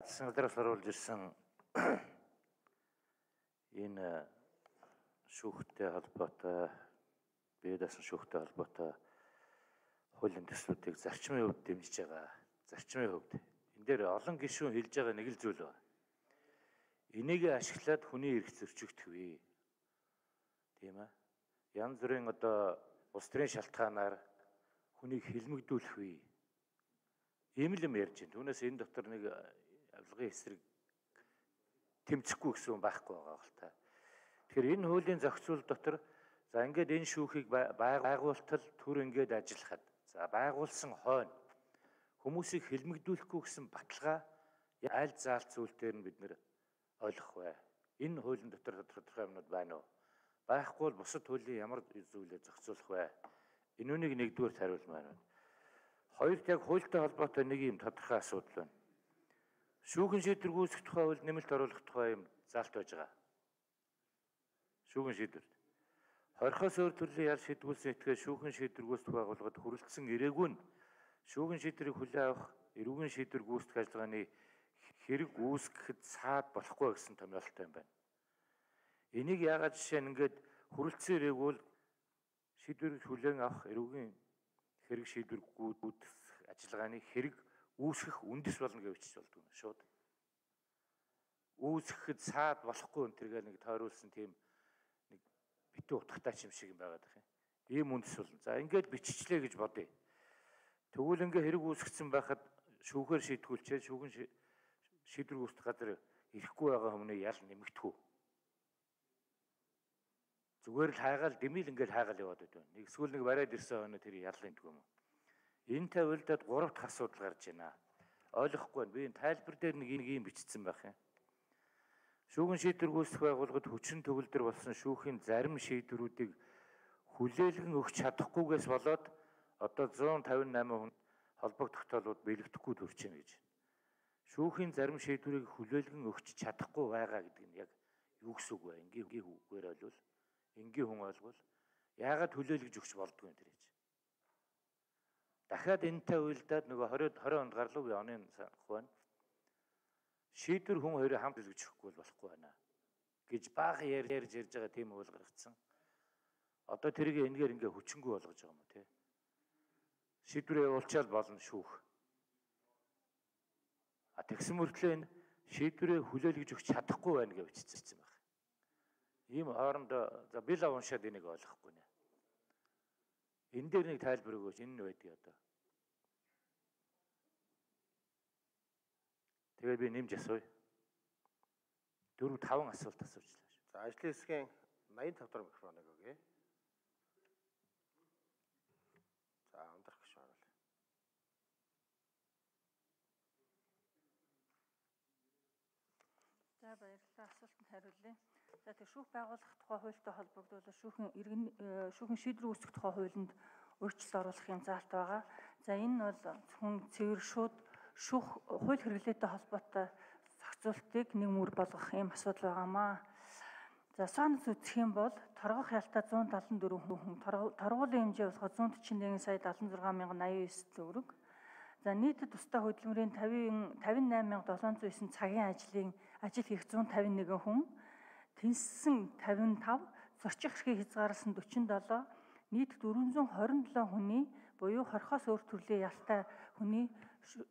Саналаас оруулж ирсэн энэ шүүхтэй холбоотой бие даасан шүүхтэй холбоотой хуулийн төслүүдийг зарчмын хувьд дэмжиж байгаа. Зарчмын хувьд энэ дээр олон гишүүн хэлж байгаа нэг л зүйл байна. Энийг ашиглаад хүний эрх зөрчигдөхвээ. Тийм ээ. Янз бүрийн одоо улс төрийн шалтгаанаар хүнийг хилмигдүүлэх вэ. Ийм л юм ярьж байна. Түүнээс энэ дотор нэг авилгын эсрэг тэмцэхгүй гэсэн хүн байхгүй байгаа хэл та. Тэгэхээр энэ хуулийн зохицуул дотор за ингээд энэ шүүхийг байгуултал төр ингээд ажиллахад за байгуулсан хойно хүмүүсийг хилмигдүүлэхгүй гэсэн баталгаа аль заалт зүйл дээр нь бид нэр ойлгох бай. Энэ хуулийн дотор тодорхой юмнууд байна уу? Байхгүй бол бусад хуулийн ямар зүйлээр зохицуулах вэ? Энүүнийг нэгдүгээр хариулмаар байна. Хоёрт яг хуультай холбоотой нэг юм тодорхой асуудал байна. Шүүхэн шийдвэр гүйцэх тухай хууль нэмэлт оруулах тухай юм заалт байж байгаа. Шүүхэн шийдвэрт. Хорхоос өөр төрлийн ял шийдвүүлсэн этгээд шүүхэн шийдвэр гүйцэтгэх байгууллагад хүрэлцсэн ирээгүй нь шүүхэн шийдвэрийг хүлээн авах эрүүгийн шийдвэр гүйцэтгэх ажиллагааны хэрэг үүсгэхэд цаад болохгүй гэсэн томьёолтой юм байна. Энийг яагаад жишээ нь ингээд хүрэлцсэн ирээгүй бол шийдвэрийг хүлээн авах эрүүгийн хэрэг шийдвэр гүйцэтгэх ажиллагааны хэрэг үүсгэх үндэс болно гэж бичиж болдгоо шууд. Үүсгэхэд цаад болохгүй энэ төргээл нэг тойруулсан тийм нэг битүү утгатай юм шиг юм байгаад байна. Ийм үндэс болно. За ингээд биччихлээ гэж бодъё. Тэгвэл ингээ хэрэг үүсгэсэн байхад шүүхээр шийдгүүлчээ шүүхэн шийдвэр гүйцэтгэх газар ирэхгүй байгаа хүмүүний ял нэмэгдэх үү? Зүгээр л хайгаал дэмил ингээл хайгаал яваад байдаг. Нэг эсвэл нэг барайд ирсэн хойно тэр яллын гэдэг юм уу? Энэ тавилдад 3 дахь асуудал гарч байна. Ойлгохгүй байна. Би энэ тайлбар дээр нэг юм бичсэн байх юм. Шүүхэн шийдвэр гүйцэтгэх байгууллагад хүчин төгөлдөр болсон шүүхийн зарим шийдвэрүүдийг хүлээлгэн өгч чадахгүйгээс болоод одоо 158 хүн холбог тогтоолууд бэлэгдэхгүй төрж байна гэж. Шүүхийн зарим шийдвэрийг хүлээлгэн өгч чадахгүй байгаа гэдэг нь яг юу гэсэн үг вэ? Энгийн үгээр ойлвол энгийн хүн ойлгвол яагаад хүлээлгэж өгч болдгоо энэ гэж. Дахиад энэтэй уялдаад нөгөө 20 онд гарлуу би оны санах байна. Шийдвэр хүн хоёрыг хамт хүлээж өгөхгүй болохгүй байна гэж бага ярьж байгаа тийм үйл гаргацсан. Одоо тэрийг энэгээр ингээ хүчингүй болгож байгаа юм уу те? Шийдвэрээ явуулчаал болно шүүх. Тэгсэн мөртлөө энэ шийдвэрээ хүлээлгэж өгч чадахгүй байна гэж бичсэн байна. Ийм хоорондоо за би л уншаад энийг ойлгохгүй нэ. Энэ дээр нэг тайлбар өгөөч энэ нь байдгийг одоо. Тэгээд би нэмж асууя. 4-5 асуулт асуучлаа шүү. За ажлын хэсгийн 85 дахь микрофоныг өгье. За ундрах гэж байна. За баярлалаа. Асуултанд хариулъя. За тэр шүүх байгуулах тухай хуультай холбогдуулаад шүүхэн шийдвэр үүсгэх тухай хуулинд өөрчлөлт оруулахын заалт байгаа. За энэ нь бол зөвхөн цэвэр шууд шүүх хууль хэрэглээтэй холбоотой зохицуултыг нэг мөр болгох юм асуудал байгаамаа. За санал үзэх юм бол торгох ялтаа 174 хүн, торгуулийн хэмжээ болоход 141 сая 76,089 төгрөг. За нийтэд тусдаа хөдөлмөрийн 58,709 цагийн ажил хийх 151 хүн, тэнцсэн 55, зорчих эрхийг хязгаарласан 47, нийт 427 хүний буюу хорхоос өөр төрлийн ялтай хүний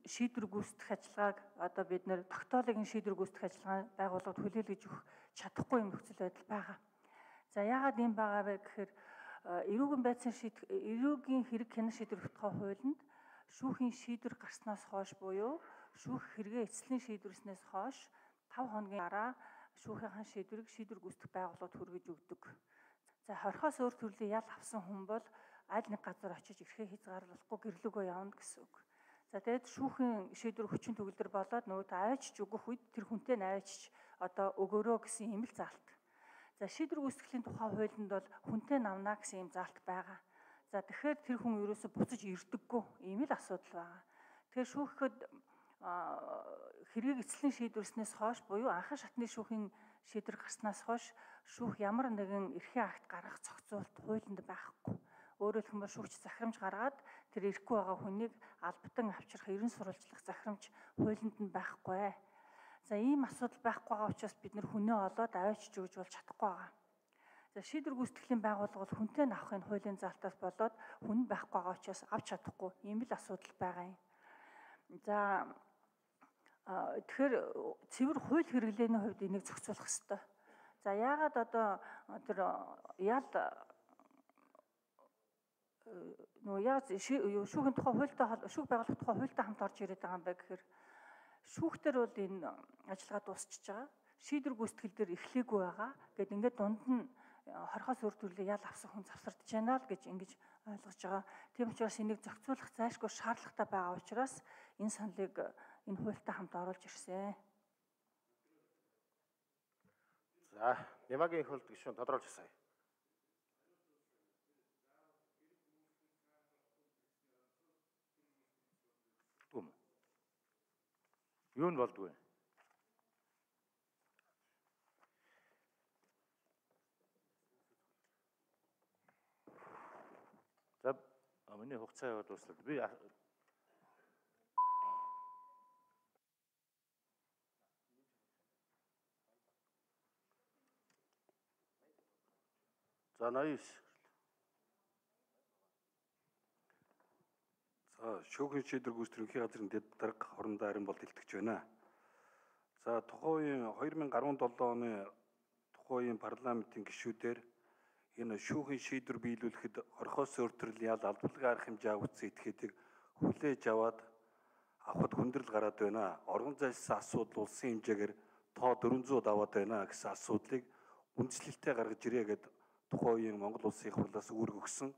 шийдвэр гүйцэтгэх ажиллагааг одоо бид нэр тогтоолын шийдвэр гүйцэтгэх ажиллагаа байгууллагад хүлээлгэж өгөх чадахгүй юм нөхцөл байдал байгаа. За яагаад ийм байгаа вэ гэхээр эрүүгийн хэрэг хянах шийдвэр тухай хуулинд шүүхийн шийдвэр гарснаас хойш буюу шүүх хэрэгээ эцэслийн шийдвэрснээс хойш 5 хоногийн дараа шүүхийнхаа шийдвэрийг шийдвэр гүйцэтгэх байгууллагад хүргэж өгдөг. За хорхоос өөр төрлийн ял авсан хүн бол аль нэг газар очиж эрхээ хязгаарлахгүй гэрлөөгөө явна гэсэн үг. За тэгээд шүүхийн шийдвэр хүчин төгөлдөр болоод нөгөө аваачч өгөх үед тэр хүнтэй аваачч одоо өгөөрөө гэсэн юм л заалт. За шийдвэр гүйцэтгэлийн тухай хуулинд бол хүнтэй навнаа гэсэн юм заалт байгаа. За тэгэхээр тэр хүн ерөөсө буцаж ирдэггүй ийм л асуудал байгаа. Тэгэхээр шүүхэд хэргийг эцэслийн шийдвэрснээс хойш буюу анхан шатны шүүхийн шийдвэр гарснаас хойш шүүх ямар нэгэн эрхийн акт гаргах зохицуулт хуулинд байхгүй. Өөрөөр хэлбэл шүүгч захирамж гаргаад тэр ирэхгүй байгаа хүнийг албатан авчрах ерөн сурвалжлах захирамж хуулинд нь байхгүй. За ийм асуудал байхгүй байгаа учраас бид нэр хүнээ олоод аваач өгж болж чадахгүй байгаа. За шийдвэр гүйцэтгэлийн байгууллага бол хүнтэй авахын хуулийн залтаас болоод хүн байхгүй байгаа учраас авч чадахгүй ийм л асуудал байгаа юм. За тэгэхээр цэвэр хууль хэрэглээний хувьд энийг зохицуулах хэрэгтэй. За яагаад одоо тэр ял шүүхийн тухай хуультай шүүх байгуулах тухай хуультай хамт орж ирээд байгаа юм байна гэхээр шүүхтэр бол энэ ажиллагаа дуусчихж байгаа. Шийдвэр гүйцэтгэл дээр эхлээгүй байгаа. Гэт ингээд дунд нь хорхоос өөр төрлийн ял авсан хүн завсардж байна л гэж ингэж ойлгож байгаа. Тийм учраас энийг зохицуулах зайлшгүй шаардлагатай байгаа учраас энэ саналыг энэ хуультай хамт оруулж ирсэн. За, Нямагийн их хуульд гишүүн тодорхойлж асууя. Юу нь болдгоо? За миний хугацаа яваад дуслаа. Би За 89. За шүүхийн шийдвэр гүйцэтгэхийн газрын дэд дарга хорондоо харин бол илтгэж байна. За тухайн үеийн 2017 оны тухайн үеийн парламентын гишүүдээр энэ шүүхийн шийдвэр биелүүлэхэд хорхоос өөр төрлийн ял албалгын арга хэмжээ авагдсан этгээдийг хүлээж аваад авахд хүндрэл гараад байна. Оргон зайлшсан асуудал улсын хэмжээгээр тоо 400 даваад байна гэсэн асуудлыг үндслэлтэд гаргаж ирээ гэд тухайн үеийн Монгол улсын их хурлаас үүрэг өгсөн.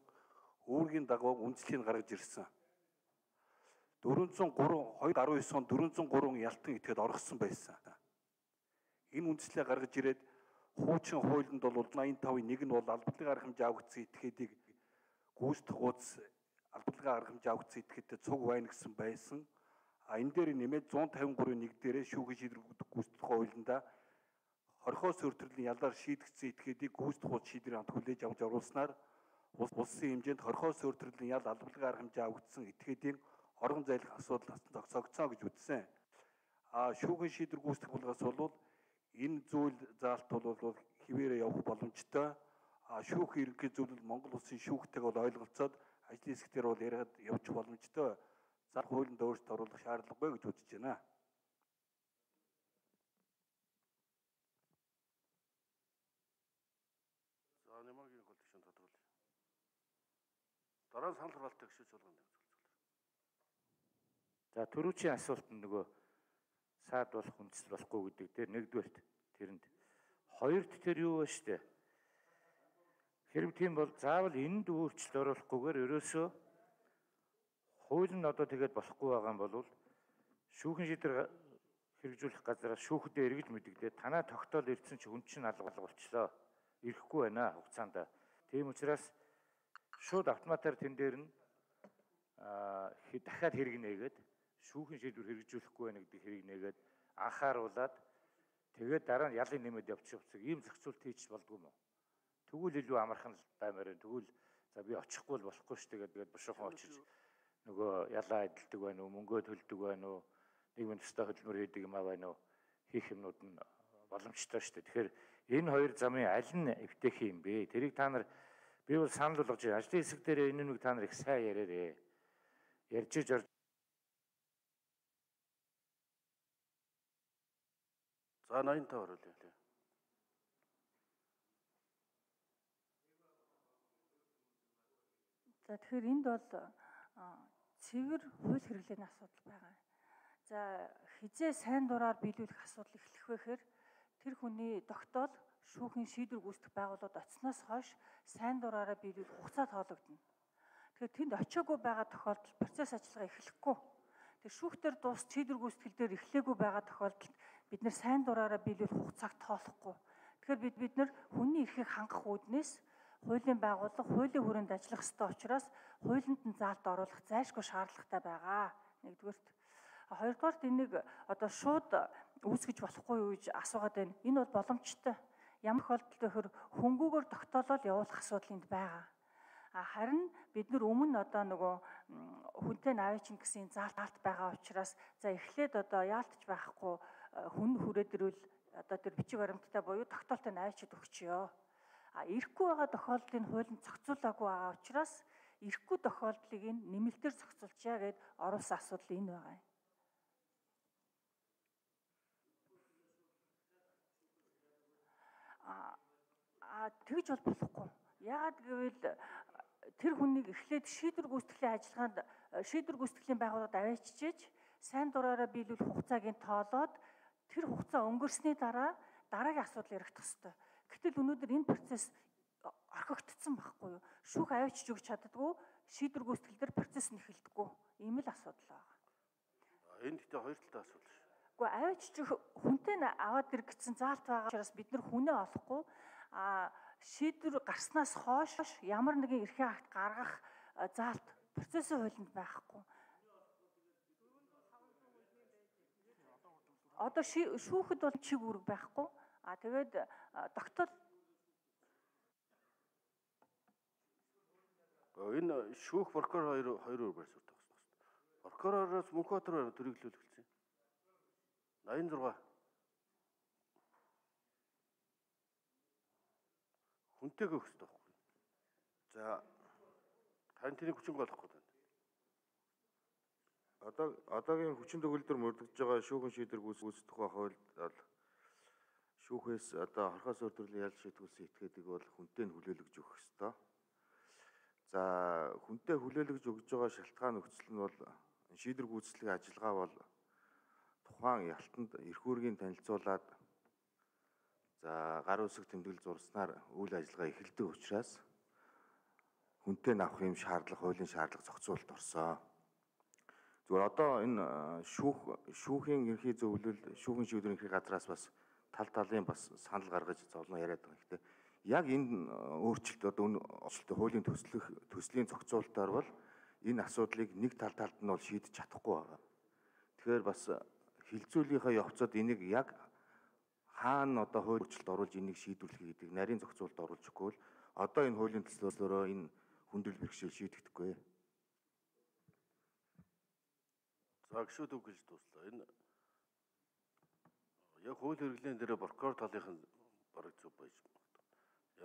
Үүргийн дагуу үндслэлийг гаргаж ирсэн. 2019 онд 403 ялтан этгээд оргосон байсан. Энэ үндслэлийг гаргаж ирээд хуучин хуулинд бол 85-ийн нэг нь бол албадлагын арга хэмжээ авагдсан этгээдийг гүйцэтгэх хуудас албадлагын арга хэмжээ авагдсан этгээдтэй цуг байна гэсэн байсан. Энэ дээр нэмээд 153-ийн нэг дээрээ шүүхийн шийдвэр гүйцэтгэх хуулиндаа хорхоос өөр төрлийн ялаар шийдэгдсэн этгээдийг гүйцэтгэх хуудас шийдвэрийн хамт хүлээж авч оруулснаар улсын хэмжээнд хорхоос өөр төрлийн ял албадлагын арга хэмжээ авагдсан этгээдийн орон зайлах асуудал зогсоогцоо гэж үзсэн. Шүүхийн шийдвэр гүйцэтгэх болгоос бол энэ зүйл заалт бол хിവэрэ явах боломжтой. Шүүх ерөнхий зөвлөл Монгол улсын шүүхтэйг бол ойлголцоод ажлын хэсгээр бол яриад явчих боломжтой. За хуулинд өөрчлөлт оруулах шаардлагагүй гэж үзэж байна. За Нямагийн хөлт гишүүн тодорхойлъё. Дараа нь санал хураалттай гишүүн болгоно. За төрүүчийн асуулт нь нөгөө саад болох хүндэс болохгүй гэдэг дээр нэгдүгээрт тэрэнд хоёрт тэр юу вэ штэ. Хэрэг тийм бол заавал энд өөрчлөлт оруулахгүйгээр ерөөсөө хууль нь одоо тэгээд болохгүй байгаа юм бол шүүхэн шийдвэр хэрэгжүүлэх газраас шүүхэдээ эргэж мэдэгдээ танаа тогтоол ирсэн чи хүн чинь алга болчлоо. Ирэхгүй байна хугацаанд. Тийм учраас шууд автоматар тэн дээр нь дахиад хэрэг нээгээд шүүхэн шийдвэр хэрэгжүүлэхгүй байна гэдэг хэрэг нээгээд анхааруулад тэгээд дараа нь ялын нэмэд явчих хэвчээ ийм зохицуулт хийж болдгоо юм уу? Тэгвэл илүү амархан баймаар байна. Тэгвэл за би очихгүй л болохгүй шүү дээ тэгээд бушуухан очиж нөгөө ялаа эдэлдэг байна уу, мөнгөө төлдөг байна уу, нийгмийн төстэй хөдөлмөр хийдэг юм аа байна уу, хийх юмнууд нь боломжтой шүү дээ. Тэгэхээр энэ хоёр замын аль нь эвтээх юм бэ? Тэрийг та нар би бол санал болгож байна. Ажлын хэсэг дээр энэ нэг та нар их сайн яриарэ. Ярьж иж орж. За 85 оруулъя. За тэгэхээр энд бол цэвэр хууль хэрэглээний асуудал байгаа. За хизээ сайн дураар биелүүлэх асуудал эхлэх вэ гэхээр тэр хүний тогтоол шүүхийн шийдвэр гүйцэтгэх байгууллагад оцсноос хойш сайн дураараа биелүүлэх хугацаа тоологдно. Тэгэхээр тэнд очиагүй байгаа тохиолдолд процесс ажиллагаа эхлэхгүй. Тэр шүүхтэр дуус шийдвэр гүйцэтгэл дээр эхлээгүй байгаа тохиолдолд бид нэр сайн дураараа биелүүлэх хугацааг тоолохгүй. Тэгэхээр бид нар хүний эрхийг хангах үүднээс хуулийн байгууллага хуулийн хүрээнд ажиллах ёстой учраас хуулинд нь заалт оруулах зайлшгүй шаардлагатай байгаа. Нэгдүгээрт. Хоёрдугаарт энийг одоо шууд үүсгэж болохгүй юу гэж асуугаад байна. Энэ бол боломжтой. Ямар тохиолдолд вэхэр хөнгүүгээр тогтоолол явуулах асуудал энд байгаа. Харин бид нар өмнө одоо нөгөө хүнтэй наваачин гэсэн заалт байгаа учраас за эхлээд одоо яалтч байхгүй хүн хүрээд ирвэл одоо тэр бичиг баримттай буюу тогтоолтой найчид өгчөө. Ирэхгүй байгаа тохиолдлыг хуулинд зохицуулаагүй байгаа учраас ирэхгүй тохиолдлыг нэмэлтээр зохицуулчаа гэд оруулсан асуудал энэ байгаа юм. Тэгж бол болохгүй. Яагаад гэвэл тэр хүнийг эхлээд шийдвэр гүйцэтгэлийн байгууллагад аваачиж сайн дураараа биелүүл хугацааг нь тоолоод тэр хугацаа өнгөрсний дараагийн асуудал яригдах ёстой. Гэтэл өнөөдөр энэ процесс орхигдсон байхгүй юу? Шүүх аваачиж өгч чаддгүй, шийдвэр гүйцэтгэл дээр процесс нь эхэлдэггүй. Ийм л асуудал байна. Энэ гэхдээ хоёр талтай асуудал шүү. Гэхдээ аваачиж хүнтэй аваад ир гэсэн заалт байгаа учраас бид нар хүнээ олохгүй шийдвэр гарснаас хойш ямар нэгэн эрхээ акт гаргах заалт процессын хуулинд байхгүй. Одоо шүүхэд бол чиг үүрэг байхгүй. Тэгээд тогтоол энэ шүүх прокурор хоёр байр суурь тагсан. Прокуророос Мөнхбаатар төрөглөл эхэлсэн. 86 хүнтэйг өгөх хэрэгтэй байхгүй. За харин тэрийг хүчин болохгүй байна. Одоогийн хүчин төгөлдөр мөрдөгж байгаа шүүхэн шийдвэр гүйцэтгэх тухай хуульд бол шүүхээс одоо хорхоос өөр төрлийн ял шийдвүүлсэн этгээдийг бол хүнтэй нь хүлээлгэж өгөх ёстой. За хүнтэй хүлээлгэж өгж байгаа шалтгаан нөхцөл нь бол шийдвэр гүйцэтгэлийн ажиллагаа бол тухайн ялтанд эрх үүргийг танилцуулаад за гар үсэг тэмдэглэл зурснаар үйл ажиллагаа эхэлдэг учраас хүнтэй авах юм шаардлага, хуулийн шаардлага зохицуулалт орсон. Зүгээр одоо энэ шүүхийн ерхий зөвлөл, шүүхийн шийдвэрийн ерхий газраас бас талын бас санал гаргаж зовлон яриад байгаа. Гэхдээ яг энэ өөрчлөлт одоо хуулийн төслийн зохицуулалтаар бол энэ асуудлыг нэг талд нь бол шийдэж чадахгүй байгаа. Тэгэхээр бас хилцүүлгийнхаа явцад энийг яг хаана одоо хууль өөрчлөлт оруулж энийг шийдвэрлэх гэдэг нарийн зохицуулалт оруулж өгөхгүй бол одоо энэ хуулийн төслөөрөө энэ хүндрэл бэрхшээл шийдэгдэхгүй. За гişүүд үг гэж дуслаа. Энэ яг хууль хэрэглэн дээр прокурор талынх нь бараг зөв байж магадгүй.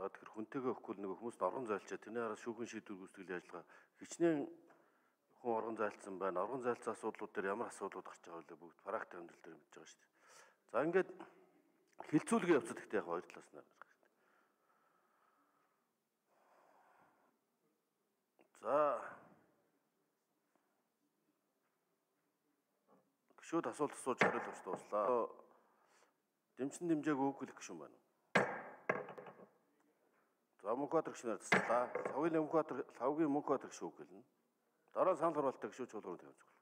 Яг тэр хүнтэйгээ өгөхгүй нэг хүмүүст оргон зайлчаа тэрний араас шүүхийн шийдвэр гүйцэтгэлийн ажиллагаа хичнээн хүн оргон зайлцсан байна. Оргон зайлцсан асуудлууд дээр ямар асуудлууд гарч байгаа вэ? Бүгд практик амьдрал дээр мэдж байгаа шүү дээ. За ингээд хилцүүлгийн явцад ихтэй яг хоёр талаас нь гарах хэрэгтэй. За гişүүд асуулт асууж хариулт өгч дууслаа. Дэмжин дэмжээг өгөх гişүн байна. За Мөнхбаатар гişнээр таслаа. Лавгийн Мөнхбаатар гişүү гэлнэ. Дараа санал харуултаа гişүү чуулганд тавьж